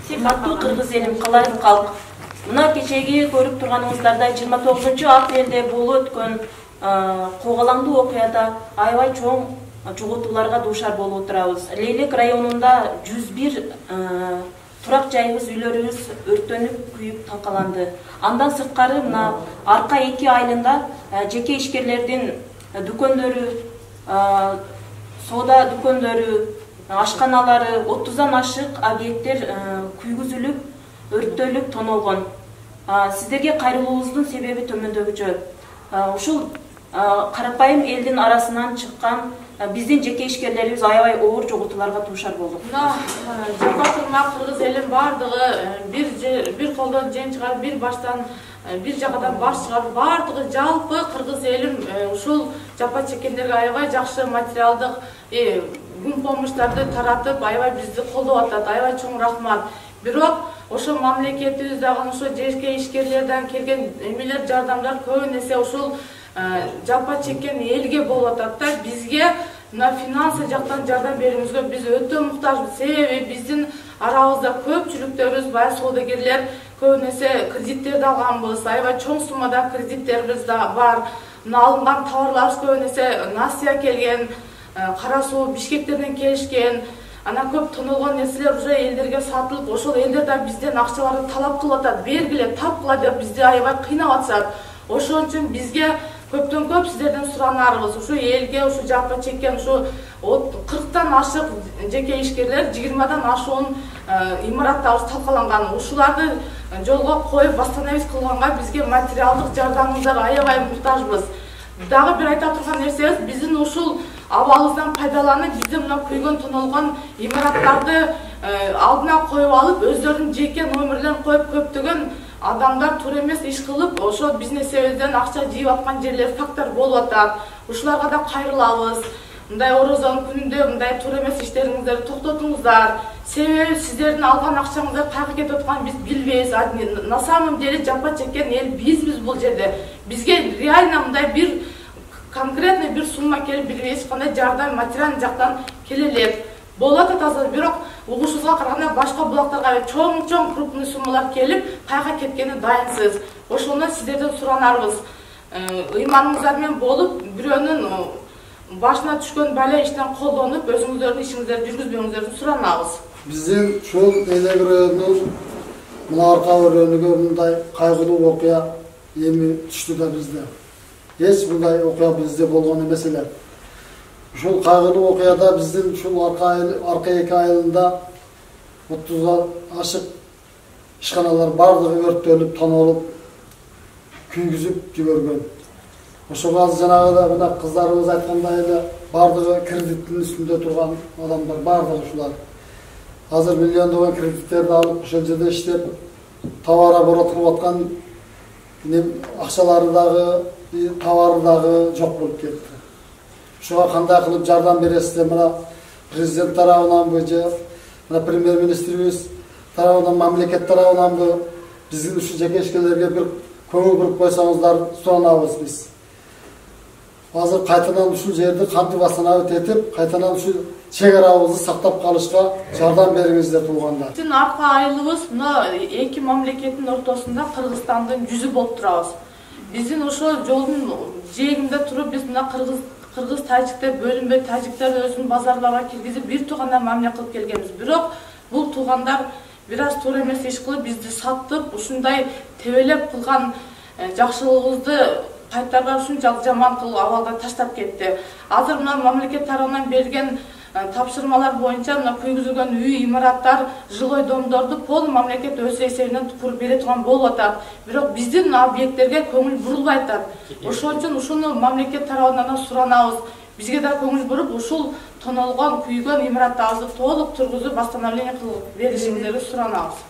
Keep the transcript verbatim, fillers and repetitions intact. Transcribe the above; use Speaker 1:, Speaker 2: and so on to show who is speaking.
Speaker 1: Сыйматтуу кыргыз элим, калайык калк. Мына кечеги көрүп турганыңыздардай жыйырма тогузунчу апрелде болуп өткөн когалаңдуу окуяда аябай чоң жоготууларга дуушар болуп отурабыз. Лейлек районунда жүз бир турак жайыбыз, үйлөрүбүз өрттөнүп, күйүп талкаланды. Андан сырткары мына арка эки айылында жеке ишкерлердин дүкөндөрү, соода дүкөндөрү, ашканалары, отуздан ашык объекттер күйгүзүлүп, өрттөлүп, тонолгон. Сиздерге кайрылуубуздун себеби төмөндөгүчө. Ушул карапайым элдин арасынан чыккан биздин жеке ишкерлерибиз аябай оор жоготууларга дуушар болдук.
Speaker 2: Мына жапа турмак кыргыз элин бардыгы бир бир колдон жен чыгарып, бир баштан бир жагадан баш чыгарып, бардыгы жалпы кыргыз элим ушул жапа чеккендерге аябай жакшы материалдык күн помуштарды таратып, аябай бизди колдоп атат. Аябай чоң рахмат. Бирок ошо мамлекетибиз дагы ошо жеке ишкерлерден келген эмелер, жардамдар көбүн эсе ушул жапа чеккен элге болуп атат да. Бизге мына финансы жактан жардам берүүбүзгө биз өтө муктажбыз. Себеби биздин арабызда көпчүлүктөрүбүз бай соодагерлер, көбүн эсе кредиттерди алганбыз. Аябай чоң суммада кредиттерибиз да бар. Мына алынган товарларыбыз көбүн эсе Насия келген, Кара Суу, Бишкектерден келишкен. Ана көп тонолгон нерселер уже элдерге сатылып, ошол элдер да бизден акчаларды талап кылып атат. Бергиле, тапкыла деп бизди аябай кыйнап атышат. Ошон үчүн бизге көптөн көп сиздерден суранарыбыз, ушу элге, ушу жапа чеккен, ушу кырктан ашык жеке ишкерлер, жыйырмадан ашуун имараттарыбыз талкаланган. Ушуларды жолго коюп, восстановить кылганга бизге материалдык жардамыңыздар аябай муктажбыз. Дагы бир айта турган нерсебиз, биздин ушул абалыбыздан пайдаланып, биздин мына күйгөн, тонолгон имараттарды алдына коюп алып, өздөрүнүн жеке номерлерин коюп, көптөгөн адамдар туура эмес иш кылып, ошо бизнесибизден акча жыйып аткан жерлер фактор болуп атат. Ушуларга да кайрылабыз. Мындай орозонун күнүндө мындай туура эмес иштериңиздерди токтотуңуздар. Себеби сиздердин алган акчаңыздар кайга кетип атканын биз билбейбиз. На самом деле жапа чеккен эл бизбиз бул жерде. Бизге реально мындай бир конкретный бир сумма келип, билбейбиз кандай жардам материалдык жактан келе элек. Болуп атат азыр, бирок угушубузга караганда башка булактарга чоң-чоң крупный суммалар келип, кайга кеткени дайынсыз. Ошондон сиздерден суранарбыз. Ыйманыңыздар менен болуп, бирөөнүн башына түшкөн бала иштен колдонуп, өзүңүздөрдүн ишиңиздерди жүргүзбөөңүздөрдү суранабыз.
Speaker 3: Биздин ушул Элек районунун мына арка өрөөнүгө мындай кайгылуу окуя эми түштү да бизде. Эч мындай окуя бизде болгон эмес эле. Ушул кайгылуу окуяда биздин ушул арка эки айылында отуздан ашык ишканалар бардыгы өрттөлүп, тонолуп, күйгүзүп жибергөн. Ошого азыр жанагыда мына кыздарыбыз айткандай эле бардыгы кредиттин үстүндө турган адамдар, бардыгы ушулар. Азыр миллиондогон кредиттерди алып, ошол жерде иштеп, товар оборот кылып аткан акчалары дагы, товары дагы жок болуп кетти. Ошого кандай кылып жардам бересиздер? Мына президент тарабынанбы же мына премьер-министрибиз тарабынан, мамлекет тарабынанбы биздин ушу жеке ишкерлерге бир көңүл буруп койсоңуздар суранабыз биз. Азыр кайтадан ушул жерди кантип восстановить этип, кайтадан ушул чек арабызды сактап калышка жардам бериңиздер туугандар.
Speaker 2: Биздин арка айылыбыз мына эки мамлекеттин ортосунда Кыргызстандын жүзү болуп турабыз. Биздин ошол жолдун жээгинде туруп, биз мына кыргыз кыргыз тажиктер бөлүнбөй, тажиктер өзүнүн базарларга киргизип, бир туугандан мамиле кылып келгенбиз. Бирок бул туугандар бир аз туура эмес иш кылып, бизди сатып, ушундай тебелеп кылган жакшылыгыбызды кайтарбай ушунчалык жаман кылып абалда таштап кетти. Азыр мына мамлекет тарабынан берген тапшырмалар боюнча мына күйгүзүлгөн үй, имараттар, жилой домдорду пол мамлекет өз эсебинен куруп бере турган болуп атат. Бирок биздин объекттерге көңүл бурулбай атат. Ошон үчүн ушуну мамлекет тарабынан суранабыз. Бизге да көңүл буруп, ушул тонолгон, күйгөн имараттарыбызды толук тургузуп, восстановление кылып беришиңиздерди суранабыз.